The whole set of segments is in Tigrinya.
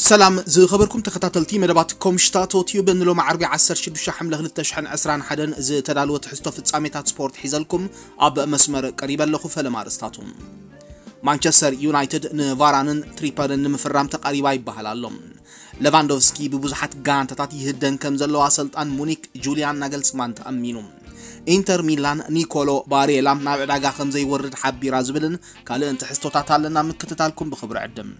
ሰላም ዝኸበርኩም ተኸታተልቲ መደባት ኮምሽታቶ ቲዩብ፣ ንሎሚ ዓርቢ ዓሰርተ ሽዱሽተ ሓምለ ክልተ ሽሕን ዕስራን ሓደን ዝተዳለወ ትሕዝቶ ፍጻሜታት ስፖርት ሒዘልኩም ኣብ መስመር ቀሪበ ኣለኹ። ፈለማ ኣርእስታቱ። ማንቸስተር ዩናይትድ ንቫራንን ትሪፐርን ንምፍራም ተቓሪባ ይበሃል ኣሎ። ሌቫንዶቭስኪ ብብዙሓት ጋንታታት ይህደን ከም ዘሎ ኣሰልጣን ሙኒክ ጁልያን ናገልስማን ተኣሚኑ። ኢንተር ሚላን ኒኮሎ ባሬላ ናብ ዕዳጋ ከም ዘይወርድ ሓቢራ ዝብልን ካልእን ትሕዝቶታት ኣለና። ምክትታልኩም ብኽብሪ ዕድም።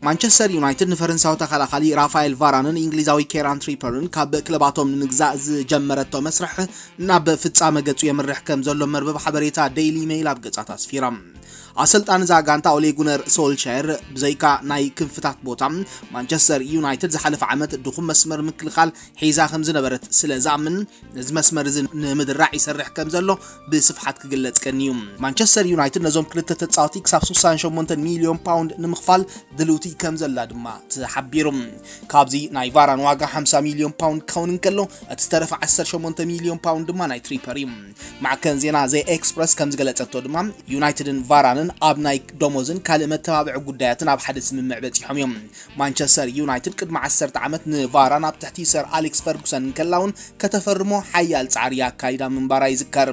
ማንቸስተር ዩናይትድ ንፈረንሳዊ ተኸላኻሊ ራፋኤል ቫራንን እንግሊዛዊ ኬራን ትሪፐርን ካብ ክለባቶም ንምግዛእ ዝጀመረቶ መስርሕ ናብ ፍጻመ ገጹ የምርሕ ከም ዘሎ መርበብ ሓበሬታ ዴይሊ ሜይል ኣብ ገጻት ኣስፊራ። ኣሰልጣን እዛ ጋንታ ኦሌ ጉነር ሶልሻየር ብዘይካ ናይ ክንፍታት ቦታ፣ ማንቸስተር ዩናይትድ ዝሓለፈ ዓመት ድኹም መስመር ምክልኻል ሒዛ ከም ዝነበረት ስለ ዝኣምን፣ ነዚ መስመር እዚ ንምድራዕ ይሰርሕ ከም ዘሎ ብስፍሓት ክግለጽ ቀንዩ። ማንቸስተር ዩናይትድ ነዞም ክልተ ተጻወቲ ክሳብ ስሳን ሸሞንተን ሚልዮን ፓውንድ ንምኽፋል ድልውቲ ከም ዘላ ድማ ተሓቢሩ። ካብዚ ናይ ቫራን ዋጋ ሓምሳ ሚልዮን ፓውንድ ክኸውን እንከሎ፣ እቲ ዝተረፈ ዓሰርተ ሸሞንተ ሚልዮን ፓውንድ ድማ ናይ ትሪፐር እዩ። ማዕከን ዜና ዘ ኤክስፕረስ ከም ዝገለጸቶ ድማ፣ ዩናይትድን ቫራንን ኣብ ናይ ደሞዝን ካልእ መተባብዒ ጉዳያትን ኣብ ሓደ ስምምዕ በጺሖም እዮም። ማንቸስተር ዩናይትድ ቅድሚ ዓሰርተ ዓመት ንቫራን ኣብ ትሕቲ ሰር ኣሌክስ ፈርጉሰን እንከላ እውን ከተፈርሞ ሓያል ጻዕሪ ኣካይዳ ምንባራ ይዝከር።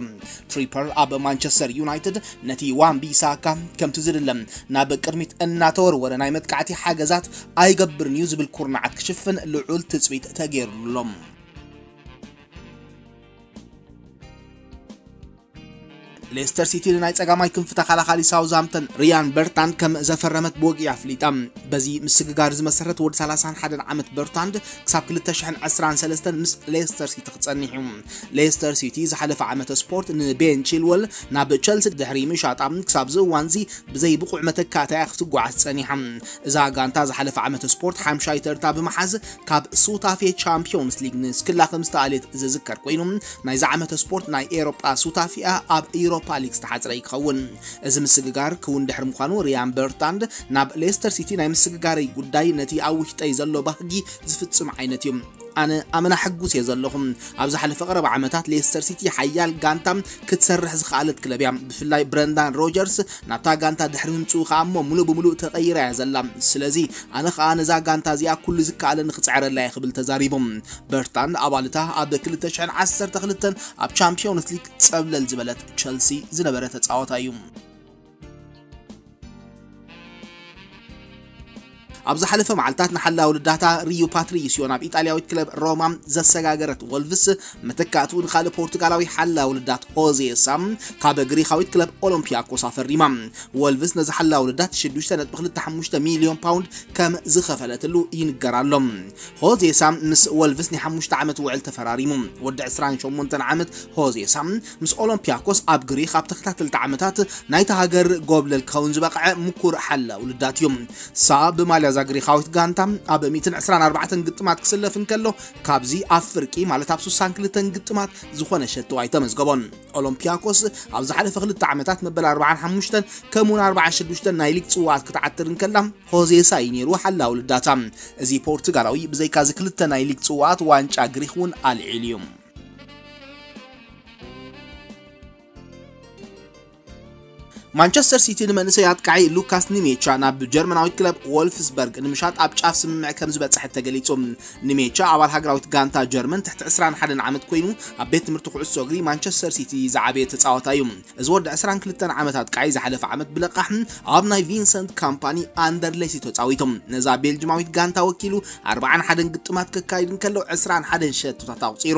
ትሪፐር ኣብ ማንቸስተር ዩናይትድ ነቲ ዋን ቢሳካ ከምቲ ዝድለ ናብ ቅድሚት እናተወርወረ ናይ መጥቃዕቲ ሓገዛት ኣይገብርን እዩ ዝብል ኩርናዓት ክሽፍን ልዑል ትጽቢት ተገይሩሉ ኣሎ። ሌስተር ሲቲ ንናይ ጸጋማይ ክንፊ ተኸላኻሊ ሳውዝሃምፕተን ሪያን በርታንድ ከም ዘፈረመት ብወግዒ ኣፍሊጣ። በዚ ምስግጋር ዝመሰረት ወዲ ሰላሳን ሓደን ዓመት በርታንድ ክሳብ ክልተ ሽሕን ዕስራን ሰለስተን ምስ ሌስተር ሲቲ ክጸንሕ እዩ። ሌስተር ሲቲ ዝሓለፈ ዓመት ስፖርት ንቤን ቺልወል ናብ ቸልሲ ድሕሪ ምሻጣ ክሳብ እዚ እዋንዚ ብዘይ ብቑዕ መተካእታ እያ ክትጓዓዝ ጸኒሓ። እዛ ጋንታ ዝሓለፈ ዓመት ስፖርት ሓምሻይ ተርታ ብምሓዝ ካብ ሱታፌ ቻምፒዮንስ ሊግ ንስክላ ከም ዝተኣልየት ዝዝከር ኮይኑ፣ ናይዚ ዓመት ስፖርት ናይ ኤሮጳ ሱታፌኣ ኣብ ኢሮፓ ሊግ ዝተሓጽረ ይኸውን። እዚ ምስግጋር ክውን ድሕሪ ምዃኑ፣ ሪያን በርታንድ ናብ ሌስተር ሲቲ ናይ ምስግጋረይ ጉዳይ ነቲ ኣብ ውሽጠይ ዘሎ ባህጊ ዝፍጽም ዓይነት እዩ። ኣነ ኣመና ሕጉስ እየ ዘለኹ። ኣብ ዝሓለፈ ቀረባ ዓመታት ሌስተር ሲቲ ሓያል ጋንታ ክትሰርሕ ዝኸኣለት ክለብ እያ። ብፍላይ ብረንዳን ሮጀርስ ናብታ ጋንታ ድሕሪ ምምጽኡ ከኣ እሞ ምሉእ ብምሉእ ተቐይራ እያ ዘላ። ስለዚ ኣነ ከኣ ነዛ ጋንታ እዚኣ ኩሉ ዝከኣለኒ ክጽዕረላ እየ ክብል ተዛሪቡ። በርታንድ ኣባልታ ኣብ ክልተ ሽሕን ዓሰርተ ክልተን ኣብ ቻምፒዮንስ ሊግ ጸብለል ዝበለት ቸልሲ ዝነበረ ተጻዋታይ እዩ። ኣብ ዝሓለፈ መዓልታት ንሓላዊ ልዳታ ሪዩ ፓትሪስዮ ናብ ኢጣልያዊት ክለብ ሮማ ዘሰጋገረት ወልቭስ፣ መተካእትኡ ንኻልእ ፖርቱጋላዊ ሓላዊ ልዳት ሆዜ ሳ ካብ ግሪኻዊት ክለብ ኦሎምፒያኮስ ኣፈሪማ። ወልቭስ ነዚ ሓላዊ ልዳት ሽዱሽተ ነጥቢ ክልተ ሓሙሽተ ሚልዮን ፓውንድ ከም ዝኸፈለትሉ ይንገር ኣሎ። ሆዜ ሳ ምስ ወልቭስ ናይ ሓሙሽተ ዓመት ውዕል ተፈራሪሙ። ወዲ ዕስራን ሸሞንተን ዓመት ሆዜ ሳ ምስ ኦሎምፒያኮስ ኣብ ግሪኽ ኣብ ተኸታተልቲ ዓመታት ናይታ ሃገር ጎብለል ክኸውን ዝበቕዐ ምኩር ሓላዊ ልዳት እዩ። ሳ ብማልያ እዛ ግሪኻዊት ጋንታ ኣብ ሚእትን ዕስራን ኣርባዕተን ግጥማት ክስለፍ እንከሎ፣ ካብዚ ኣብ ፍርቂ ማለት ኣብ ስሳን ክልተን ግጥማት ዝኾነ ሸቶ ኣይተመዝገቦን። ኦሎምፒያኮስ ኣብ ዝሓለፈ ክልተ ዓመታት መበል ኣርባዓን ሓሙሽተን ከምኡውን ኣርባዓን ሽዱሽተን ናይ ሊግ ጽዋኣት ክትዓትር እንከላ፣ ሆዜ ሳ እዩ ነይሩ ሓላዊ ልዳታ። እዚ ፖርቱጋላዊ ብዘይካ እዚ ክልተ ናይ ሊግ ጽዋኣት ዋንጫ ግሪኽ እውን ኣልዒሉ እዩ። ማንቸስተር ሲቲ ንመንእሰይ ኣጥቃዒ ሉካስ ኒሜቻ ናብ ጀርመናዊት ክለብ ዎልፍስበርግ ንምሻጥ ኣብ ጫፍ ስምምዕ ከም ዝበጽሐ ተገሊጹ። ኒሜቻ ኣባል ሃገራዊት ጋንታ ጀርመን ትሕቲ ዕስራን ሓደን ዓመት ኮይኑ፣ ኣብ ቤት ትምህርቲ ኩዕሶ እግሪ ማንቸስተር ሲቲ ዝዓበየ ተጻዋታይ እዩ። እዚ ወዲ ዕስራን ክልተን ዓመት ኣጥቃዒ ዝሓለፈ ዓመት ብለቃሕ ኣብ ናይ ቪንሰንት ካምፓኒ ኣንደርሌሲ ተጻዊቱ። ነዛ ቤልጅማዊት ጋንታ ወኪሉ ኣርባዓን ሓደን ግጥማት ከካይድ እንከሎ ዕስራን ሓደን ሸቶታት ኣቑጺሩ።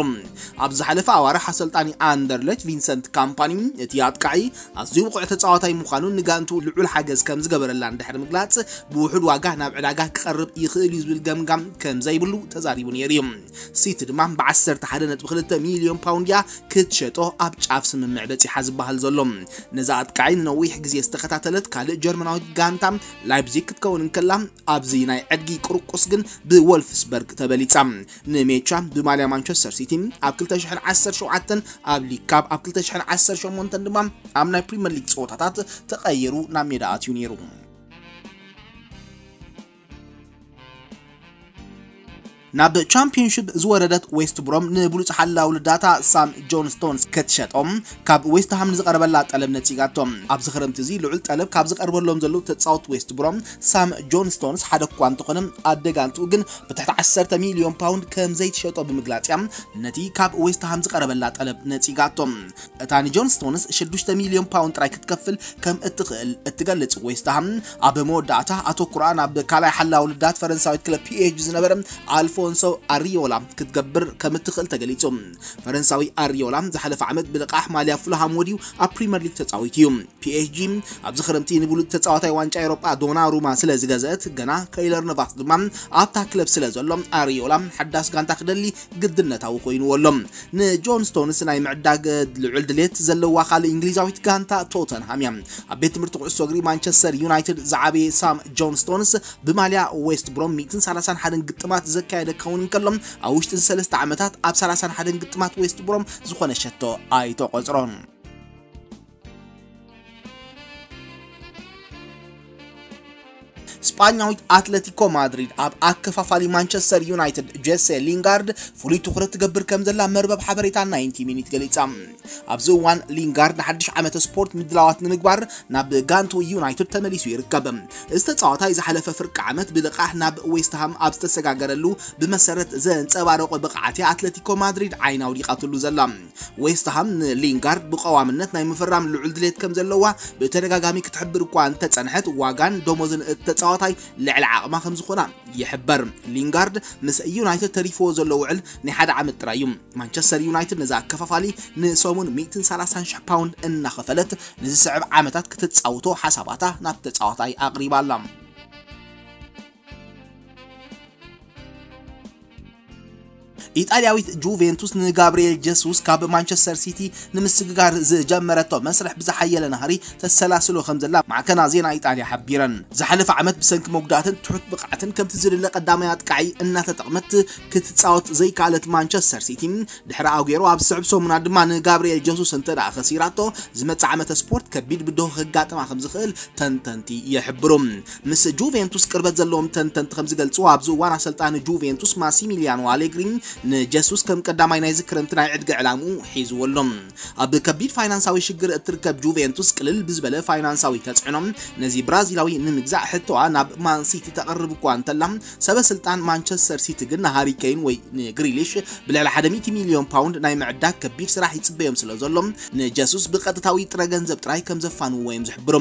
ኣብ ዝሓለፈ ኣዋርሕ ኣሰልጣኒ ኣንደርሌች ቪንሰንት ካምፓኒ እቲ ኣጥቃዒ ኣዝዩ ብቑዕ ተጻዋታይ ምዃኑን ንጋንቱ ልዑል ሓገዝ ከም ዝገበረላን ድሕሪ ምግላጽ፣ ብውሑድ ዋጋ ናብ ዕዳጋ ክቐርብ ይኽእል እዩ ዝብል ገምጋም ከም ዘይብሉ ተዛሪቡ ነይሩ እዩ። ሲቲ ድማ ብ ዓሰርተ ሓደ ነጥቢ ክልተ ሚልዮን ፓውንድ እያ ክትሸጦ ኣብ ጫፍ ስምምዕ በጺሓ ዝበሃል ዘሎ። ነዚ ኣጥቃዒ ንነዊሕ ግዜ ዝተኸታተለት ካልእ ጀርመናዊት ጋንታ ላይፕዚግ ክትከውን እንከላ፣ ኣብዚ ናይ ዕድጊ ቁርቁስ ግን ብወልፍስበርግ ተበሊጻ። ንሜቻ ብማልያ ማንቸስተር ሲቲ ኣብ ክልተ ሽሕን ዓሰርተ ሸውዓተን፣ ኣብ ሊግ ካፕ ኣብ ክልተ ሽሕን ዓሰርተ ሸሞንተን ድማ ኣብ ናይ ፕሪምየር ሊግ ጸወታታት ተቐይሩ ናብ ሜዳ ኣትዩ ነይሩ። ናብ ቻምፒዮንሺፕ ዝወረደት ዌስት ብሮም ንብሉጽ ሓላዊ ልዳታ ሳም ጆን ስቶንስ ክትሸጦም ካብ ዌስት ሃም ንዝቐረበላ ጠለብ ነጺጋቶ። ኣብዚ ክረምቲ እዚ ልዑል ጠለብ ካብ ዝቐርበሎም ዘለዉ ተጻወት ዌስት ብሮም ሳም ጆን ስቶንስ ሓደ እኳ እንተኾነ ኣደጋንቱ ግን ብትሕቲ ዓሰርተ ሚልዮን ፓውንድ ከም ዘይትሸጦ ብምግላጽ እያ ነቲ ካብ ዌስት ሃም ዝቐረበላ ጠለብ ነጺጋቶ። እታ ንጆን ስቶንስ ሽዱሽተ ሚልዮን ፓውንድ ጥራይ ክትከፍል ከም እትኽእል እትገልጽ ዌስት ሃም ኣብ መወዳእታ ኣተኩራ ናብ ካልኣይ ሓላዊ ልዳት ፈረንሳዊት ክለብ ፒ ኤስ ጂ ዝነበረ ኣልፎንሶ ኣሪዮላ ክትገብር ከም እትኽእል ተገሊጹ። ፈረንሳዊ ኣሪዮላ ዝሓለፈ ዓመት ብልቓሕ ማልያ ፉልሃም ወዲዩ ኣብ ፕሪምየር ሊግ ተጻዊቱ እዩ። ፒ ኤስ ጂ ኣብዚ ክረምቲ ንብሉጽ ተጻዋታይ ዋንጫ ኤውሮጳ ዶናሩማ ስለ ዝገዘአት ገና ከይለር ነቫስ ድማ ኣብታ ክለብ ስለ ዘሎ ኣሪዮላ ሓዳስ ጋንታ ክደሊ ግድነታዊ ኮይንዎ ኣሎ። ንጆን ስቶንስ ናይ ምዕዳግ ልዑል ድሌት ዘለዋ ካልእ እንግሊዛዊት ጋንታ ቶተንሃም እያ። ኣብ ቤት ትምህርቲ ኩዕሶ እግሪ ማንቸስተር ዩናይትድ ዝዓበየ ሳም ጆን ስቶንስ ብማልያ ዌስት ብሮም ሚእትን ሰላሳን ሓደን ግጥማት ዘካየደ ክኸውን እንከሎ ኣብ ውሽጢ እዚ ሰለስተ ዓመታት ኣብ ሰላሳን ሓደን ግጥማት ዌስት ብሮም ዝኾነ ሸቶ ኣይተቖጽሮን። ስጳኛዊት ኣትለቲኮ ማድሪድ ኣብ ኣከፋፋሊ ማንቸስተር ዩናይትድ ጄሴ ሊንጋርድ ፍሉይ ትኹረት ትገብር ከም ዘላ መርበብ ሓበሬታ ናይንቲ ሚኒት ገሊጻ። ኣብዚ እዋን ሊንጋርድ ንሓድሽ ዓመተ ስፖርት ምድላዋት ንምግባር ናብ ጋንቱ ዩናይትድ ተመሊሱ ይርከብ። እዚ ተጻዋታይ ዝሓለፈ ፍርቂ ዓመት ብልቓሕ ናብ ዌስትሃም ኣብ ዝተሰጋገረሉ ብመሰረት ዘንጸባረቆ ብቕዓት እያ ኣትለቲኮ ማድሪድ ዓይና ኣውዲቓትሉ ዘላ። ዌስትሃም ንሊንጋርድ ብቐዋምነት ናይ ምፍራም ልዑል ድሌት ከም ዘለዋ ብተደጋጋሚ ክትሕብር እኳ እንተጸንሐት፣ ዋጋን ደሞዝን እቲ ተጻዋታይ ልዕሊ ዓቕማ ከም ዝኾና ይሕበር። ሊንጋርድ ምስ ዩናይትድ ተሪፍዎ ዘሎ ውዕል ናይ ሓደ ዓመት ጥራይ እዩ። ማንቸስተር ዩናይትድ ነዚ ኣከፋፋሊ ንሰሙን ሚእትን ሰላሳን ሽሕ ፓውንድ እናኸፈለት ንዝስዕብ ዓመታት ክትጻውቶ ሓሳባታ ናብ ተጻዋታይ ኣቕሪባ ኣላ። ኢጣልያዊት ጁቬንቱስ ንጋብርኤል ጀሱስ ካብ ማንቸስተር ሲቲ ንምስግጋር ዝጀመረቶ መስርሕ ብዝሓየለ ናህሪ ተሰላስሎ ከም ዘላ ማዕከና ዜና ኢጣልያ ሓቢረን። ዝሓለፈ ዓመት ብሰንኪ መጉዳእትን ትሑት ብቕዓትን ከምቲ ዝድለ ቀዳማይ ኣጥቃዒ እናተጠቕመት ክትጻወት ዘይከኣለት ማንቸስተር ሲቲ ድሕሪ ኣጉዌሮ ኣብ ዝስዕብ ሰሙናት ድማ ንጋብርኤል ጀሱስ እንተ ደኣ ከሲራቶ ዝመጽእ ዓመተ ስፖርት ከቢድ ብድሆ ከጋጥማ ከም ዝኽእል ተንተንቲ ይሕብሩ። ምስ ጁቬንቱስ ቅርበት ዘለዎም ተንተንቲ ከም ዝገልጽዎ ኣብዚ እዋን ኣሰልጣኒ ጁቬንቱስ ማሲሚሊያኖ ኣሌግሪ ንጀሱስ ከም ቀዳማይ ናይዚ ክረምቲ ናይ ዕድገ ዕላምኡ ሒዝዎ ኣሎ። ኣብ ከቢድ ፋይናንሳዊ ሽግር እትርከብ ጁቬንቱስ ቅልል ብዝበለ ፋይናንሳዊ ተጽዕኖ ነዚ ብራዚላዊ ንምግዛእ ሕቶኣ ናብ ማን ሲቲ ተቕርብ እኳ እንተላ፣ ሰበ ስልጣን ማንቸስተር ሲቲ ግን ንሃሪ ኬን ወይ ንግሪሊሽ ብልዕሊ ሓደ ሚእቲ ሚልዮን ፓውንድ ናይ ምዕዳግ ከቢድ ስራሕ ይጽበዮም ስለ ዘሎ፣ ንጀሱስ ብቐጥታዊ ጥረ ገንዘብ ጥራይ ከም ዘፋንዎ እዮም ዝሕብሩ።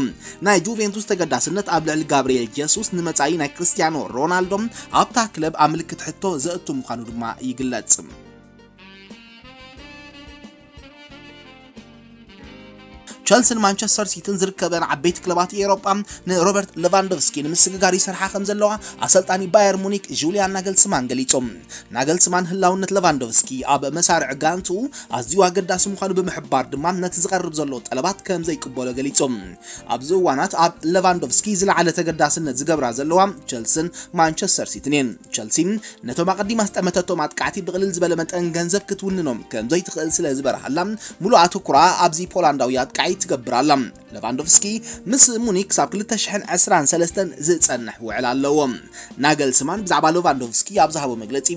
ናይ ጁቬንቱስ ተገዳስነት ኣብ ልዕሊ ጋብርኤል ጀሱስ ንመጻኢ ናይ ክርስቲያኖ ሮናልዶ ኣብታ ክለብ ኣብ ምልክት ሕቶ ዘእቱ ምዃኑ ድማ ይግለጽ። ቸልስን ማንቸስተር ሲቲን ዝርከበን ዓበይቲ ክለባት ኤውሮጳ ንሮበርት ሌቫንዶቭስኪ ንምስግጋር ይሰርሓ ከም ዘለዋ ኣሰልጣኒ ባየር ሙኒክ ጁልያን ናገልስማን ገሊጹ። ናገልስማን ህላውነት ሌቫንዶቭስኪ ኣብ መሳርዕ ጋንቱ ኣዝዩ ኣገዳሲ ምዃኑ ብምሕባር ድማ ነቲ ዝቐርብ ዘሎ ጠለባት ከም ዘይቅበሎ ገሊጹ። ኣብዚ እዋናት ኣብ ሌቫንዶቭስኪ ዝለዓለ ተገዳስነት ዝገብራ ዘለዋ ቸልስን ማንቸስተር ሲቲን እየን። ቸልሲ ነቶም ኣቐዲማ ዝጠመተቶም ኣጥቃዕቲ ብቕልል ዝበለ መጠን ገንዘብ ክትውንኖም ከም ዘይትኽእል ስለ ዝበርሃላ፣ ሙሉእ ኣተኩራ ኣብዚ ፖላንዳዊ ኣጥቃዒ ትገብር ኣላ። ሌቫንዶቭስኪ ምስ ሙኒክ ክሳብ ክልተ ሽሕን ዕስራን ሰለስተን ዝጸንሕ ውዕል ኣለዎ። ናገልስማን ብዛዕባ ሌቫንዶቭስኪ ኣብ ዝሃቦ መግለጺ፣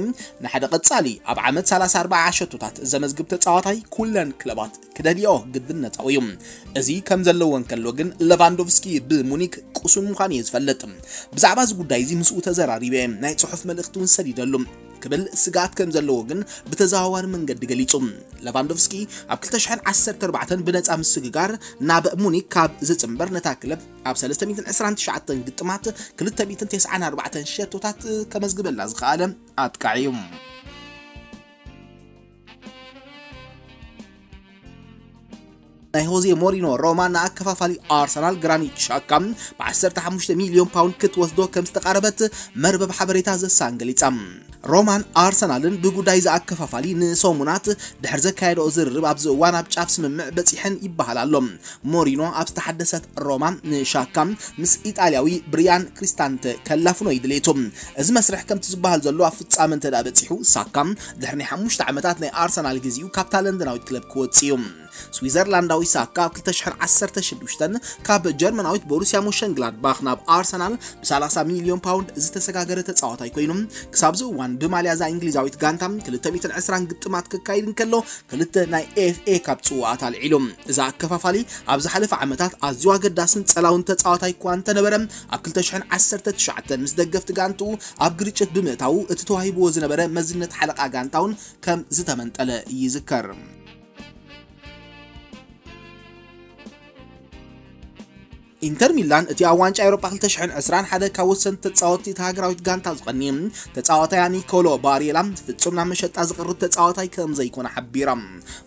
ንሓደ ቀጻሊ ኣብ ዓመት ሰላሳ ኣርባዓ ሸቶታት ዘመዝግብ ተጻዋታይ ኩለን ክለባት ክደልዮ ግድነታዊ እዩ። እዚ ከም ዘለዎ እንከሎ ግን፣ ሌቫንዶቭስኪ ብሙኒክ ቅሱን ምዃኑ እየ ዝፈልጥ። ብዛዕባ እዚ ጉዳይ እዚ ምስኡ ተዘራሪበ እየ፣ ናይ ጽሑፍ መልእኽቲ እውን ሰዲደሉ ክብል ስግኣት ከም ዘለዎ ግን ብተዘዋዋሪ መንገዲ ገሊጹ። ሌቫንዶቭስኪ ኣብ ክልተ ሽሕን ዓሰርተ ኣርባዕተን ብነጻ ምስግጋር ናብ ሙኒክ ካብ ዝጽንበር፣ ነታ ክለብ ኣብ ሰለስተ ሚእትን ዕስራን ትሽዓተን ግጥማት ክልተ ሚእትን ተስዓን ኣርባዕተን ሸቶታት ከመዝግበላ ዝኸኣለ ኣጥቃዒ እዩ። ናይ ሆዜ ሞሪኖ ሮማ ንኣከፋፋሊ ኣርሰናል ግራኒት ሻካ ብ ዓሰርተ ሓሙሽተ ሚልዮን ፓውንድ ክትወስዶ ከም ዝተቓረበት መርበብ ሓበሬታ ዘሳን ገሊጻ። ሮማን ኣርሰናልን ብጉዳይ ዝኣከፋፋሊ ንሰሙናት ድሕሪ ዘካየደኦ ዝርርብ ኣብዚ እዋን ኣብ ጫፍ ስምምዕ በጺሐን ይበሃል ኣሎ። ሞሪኖ ኣብ ዝተሓደሰት ሮማ ንሻካ ምስ ኢጣልያዊ ብሪያን ክሪስታንተ ከላፍኖ እዩ ድሌቱ። እዚ መስርሕ ከምቲ ዝበሃል ዘሎ ኣብ ፍጻመ እንተ ደኣ በጺሑ፣ ሳካ ድሕሪ ናይ ሓሙሽተ ዓመታት ናይ ኣርሰናል ግዜኡ ካብታ ለንደናዊት ክለብ ክወጽእ እዩ። ስዊዘርላንዳዊ ሳካ ኣብ ክልተ ሽሕን ዓሰርተ ሽዱሽተን ካብ ጀርመናዊት ቦሩሲያ ሞሸንግላድባኽ ናብ ኣርሰናል ብ ሰላሳ ሚልዮን ፓውንድ ዝተሰጋገረ ተጻዋታይ ኮይኑ፣ ክሳብ እዚ እዋን ብማልያ እዛ እንግሊዛዊት ጋንታ ክልተ ሚእትን ዕስራን ግጥማት ክካይድ እንከሎ፣ ክልተ ናይ ኤፍ ኤ ካፕ ጽዋኣት ኣልዒሉ። እዚ ኣከፋፋሊ ኣብ ዝሓለፈ ዓመታት ኣዝዩ ኣገዳስን ጸላውን ተጻዋታይ እኳ እንተነበረ፣ ኣብ ክልተ ሽሕን ዓሰርተ ትሽዓተን ምስ ደገፍቲ ጋንትኡ ኣብ ግርጭት ብምእታዉ፣ እቲ ተዋሂብዎ ዝነበረ መዝነት ሓለቓ ጋንታውን ከም ዝተመንጠለ ይዝከር። ኢንተር ሚላን እቲ ኣብ ዋንጫ ኤውሮጳ ክልተ ሽሕን ዕስራን ሓደ ካብ ወሰንቲ ተጻወትቲ እታ ሃገራዊት ጋንታ ዝቐኒ ተጻዋታያ ኒኮሎ ባሬላ ፍጹም ናብ መሸጣ ዝቐርብ ተጻዋታይ ከም ዘይኮነ ሓቢራ።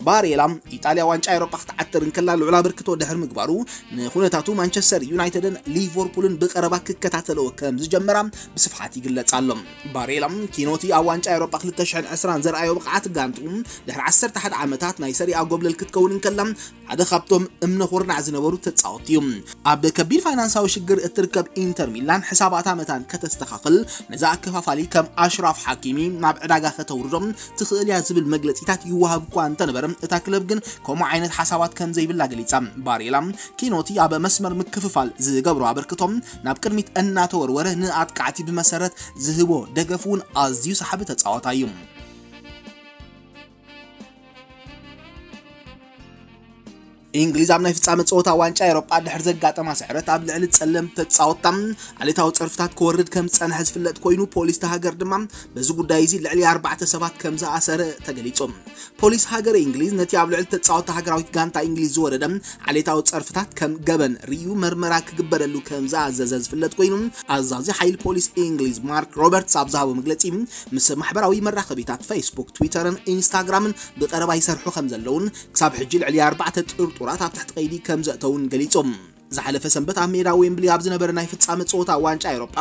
ባሬላ ኢጣልያ ዋንጫ ኤውሮጳ ክትዓትር እንከላ ልዑል ኣበርክቶ ድሕሪ ምግባሩ ንኹነታቱ ማንቸስተር ዩናይትድን ሊቨርፑልን ብቐረባ ክከታተልዎ ከም ዝጀመራ ብስፍሓት ይግለጽ ኣሎ። ባሬላ ኪኖቲ ኣብ ዋንጫ ኤውሮጳ ክልተ ሽሕን ዕስራን ዘርኣዮ ብቕዓት ጋንትኡ ድሕሪ ዓሰርተ ሓደ ዓመታት ናይ ሰሪኣ ጎብለል ክትከውን እንከላ ሓደ ካብቶም እምነ ኩርናዕ ዝነበሩ ተጻወትቲ እዩ። ኣብ ከቢድ ፋይናንሳዊ ሽግር እትርከብ ኢንተር ሚላን ሕሳባታ መታን ከተስተኻኽል ነዛ ኣከፋፋሊ ከም ኣሽራፍ ሓኪሚ ናብ ዕዳጋ ከተውርዶ ትኽእል እያ ዝብል መግለጺታት ይወሃብ እኳ እንተነበረ፣ እታ ክለብ ግን ከምኡ ዓይነት ሓሳባት ከም ዘይብላ ገሊጻ። ባሬላ ኪኖቲ ኣብ መስመር ምክፍፋል ዝገብሮ ኣበርክቶ ናብ ቅድሚት እናተወርወረ ንኣጥቃዕቲ ብመሰረት ዝህቦ ደገፍ እውን ኣዝዩ ሰሓቢ ተጻዋታይ እዩ። እንግሊዝ ኣብ ናይ ፍጻመ ጸወታ ዋንጫ ኤውሮጳ ድሕሪ ዘጋጠማ ስዕረት ኣብ ልዕሊ ጸለምቲ ተጻወትታ ዓሌታዊ ጸርፍታት ክወርድ ከም ዝጸንሐ ዝፍለጥ ኮይኑ፣ ፖሊስ እታ ሃገር ድማ በዚ ጉዳይ እዚ ልዕሊ ኣርባዕተ ሰባት ከም ዝኣሰረ ተገሊጹ። ፖሊስ ሃገረ እንግሊዝ ነቲ ኣብ ልዕሊ ተጻወትቲ ሃገራዊት ጋንታ እንግሊዝ ዝወረደ ዓሌታዊ ጸርፍታት ከም ገበን ርእዩ መርመራ ክግበረሉ ከም ዝኣዘዘ ዝፍለጥ ኮይኑ፣ ኣዛዚ ሓይሊ ፖሊስ እንግሊዝ ማርክ ሮበርትስ ኣብ ዝሃቦ መግለጺ፣ ምስ ማሕበራዊ መራኸቢታት ፌስቡክ፣ ትዊተርን ኢንስታግራምን ብቐረባ ይሰርሑ ከም ዘለውን ክሳብ ሕጂ ልዕሊ ኣርባዕተ ጥርጡራት ኣብ ትሕቲ ቀይዲ ከም ዘእተውን ገሊጹ። ዝሓለፈ ሰንበት ኣብ ሜዳ ዌምብሊ ኣብ ዝነበረ ናይ ፍጻመ ጸወታ ዋንጫ ኤውሮጳ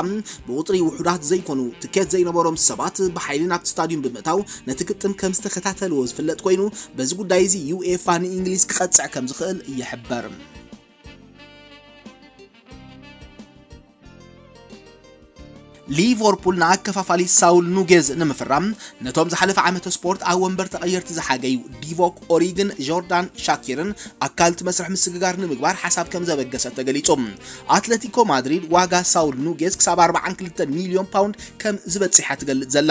ብቁጽሪ ውሑዳት ዘይኮኑ ትኬት ዘይነበሮም ሰባት ብሓይሊ ናብቲ ስታዲዩም ብምእታው ነቲ ግጥም ከም ዝተኸታተልዎ ዝፍለጥ ኮይኑ፣ በዚ ጉዳይ እዚ ዩኤፋ ንእንግሊዝ ክቐጽዕ ከም ዝኽእል ይሕበር። ሊቨርፑል ንኣከፋፋሊ ሳውል ኑጌዝ ንምፍራም ነቶም ዝሓለፈ ዓመተ ስፖርት ኣብ ወንበር ተቐየርቲ ዝሓገዩ ዲቮክ ኦሪግን ጆርዳን ሻኪርን ኣካል እቲ መስርሕ ምስግጋር ንምግባር ሓሳብ ከም ዘበገሰ ተገሊጹ። ኣትለቲኮ ማድሪድ ዋጋ ሳውል ኑጌዝ ክሳብ ኣርባዓን ክልተን ሚልዮን ፓውንድ ከም ዝበጽሓ ትገልጽ ዘላ።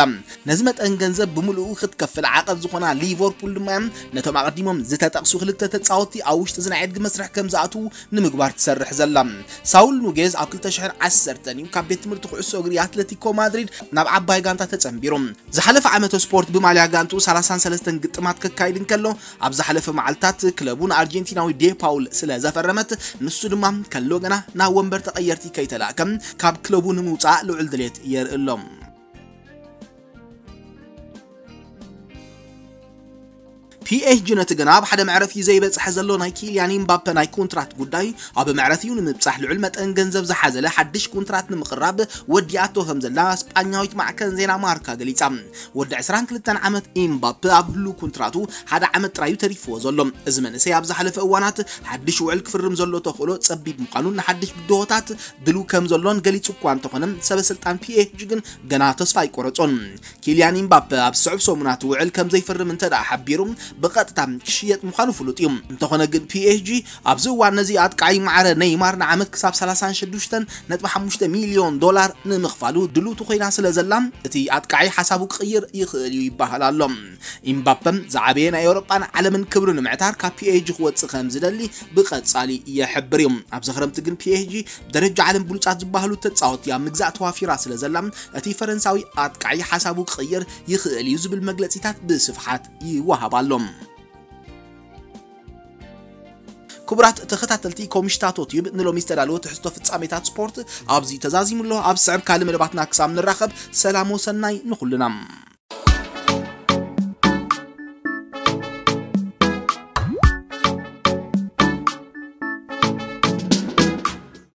ነዚ መጠን ገንዘብ ብምልኡ ክትከፍል ዓቐብ ዝኾና ሊቨርፑል ድማ ነቶም ኣቐዲሞም ዝተጠቕሱ ክልተ ተጻወትቲ ኣብ ውሽጢ እዚ ናይ ዕድጊ መስርሕ ከም ዝኣትዉ ንምግባር ትሰርሕ ዘላ። ሳውል ኑጌዝ ኣብ ክልተ ሽሕን ዓሰርተን እዩ ካብ ቤት ትምህርቲ ኩዕሶ እግሪ ኣትለቲኮ ማድሪድ ናብ ዓባይ ጋንታ ተጸንቢሩ። ዝሓለፈ ዓመተ ስፖርት ብማልያ ጋንቱ ሰላሳን ሰለስተን ግጥማት ከካይድ እንከሎ፣ ኣብ ዝሓለፈ መዓልታት ክለቡ ንኣርጀንቲናዊ ዴ ፓውል ስለ ዘፈረመት፣ ንሱ ድማ ከሎ ገና ናብ ወንበር ተቐየርቲ ከይተላእከ ካብ ክለቡ ንምውጻእ ልዑል ድሌት የርኢ ኣሎ። ፒኤስጂ ነቲ ገና ኣብ ሓደ መዕረፊ ዘይበጽሐ ዘሎ ናይ ኪልያን ኢምባፔ ናይ ኮንትራት ጉዳይ ኣብ መዕረፊኡ ንምብጻሕ ልዑል መጠን ገንዘብ ዝሓዘለ ሓድሽ ኮንትራት ንምቕራብ ወዲኣቶ ከም ዘላ ስጳኛዊት ማዕከን ዜና ማርካ ገሊጻ። ወዲ ዕስራን ክልተን ዓመት ኢምባፔ ኣብ ህሉው ኮንትራቱ ሓደ ዓመት ጥራዩ ተሪፍዎ ዘሎ። እዚ መንእሰይ ኣብ ዝሓለፈ እዋናት ሓድሽ ውዕል ክፍርም ዘሎ ተኽእሎ ጸቢብ ምዃኑን ንሓድሽ ብድሆታት ድልው ከም ዘሎን ገሊጹ እኳ እንተኾነ፣ ሰበ ስልጣን ፒኤስጂ ግን ገና ተስፋ ኣይቆረጾን። ኪልያን ኢምባፔ ኣብ ዝስዕብ ሰሙናት ውዕል ከም ዘይፍርም እንተ ደኣ ሓቢሩ፣ ብቐጥታ ክሽየጥ ምዃኑ ፍሉጥ እዩ። እንተኾነ ግን ፒኤስጂ ኣብዚ እዋን ነዚ ኣጥቃዒ ማዕረ ኔይማር ንዓመት ክሳብ ሰላሳን ሽዱሽተን ነጥቢ ሓሙሽተ ሚልዮን ዶላር ንምኽፋሉ ድልውቲ ኮይና ስለ ዘላ፣ እቲ ኣጥቃዒ ሓሳቡ ክቕይር ይኽእል እዩ ይበሃል ኣሎ። ኢምባፔ ዝዓበየ ናይ ኤውሮጳን ዓለምን ክብሪ ንምዕታር ካብ ፒኤስጂ ክወጽእ ከም ዝደሊ ብቐጻሊ ይሕብር እዩ። ኣብዚ ክረምቲ ግን ፒኤስጂ ብደረጃ ዓለም ብሉጻት ዝበሃሉ ተጻወትቲ ኣብ ምግዛእ ተዋፊራ ስለ ዘላ፣ እቲ ፈረንሳዊ ኣጥቃዒ ሓሳቡ ክቕይር ይኽእል እዩ ዝብል መግለጺታት ብስፍሓት ይወሃብ ኣሎ። ክቡራት ተኸታተልቲ ኮምሽታቶ ቲዩብ፣ ንሎሚ ዝተዳለወ ትሕዝቶ ፍጻሜታት ስፖርት ኣብዚ ተዛዚሙ ኣሎ። ኣብ ዝስዕብ ካልእ መደባትና ክሳብ ንራኸብ፣ ሰላም ወሰናይ ንኹልና።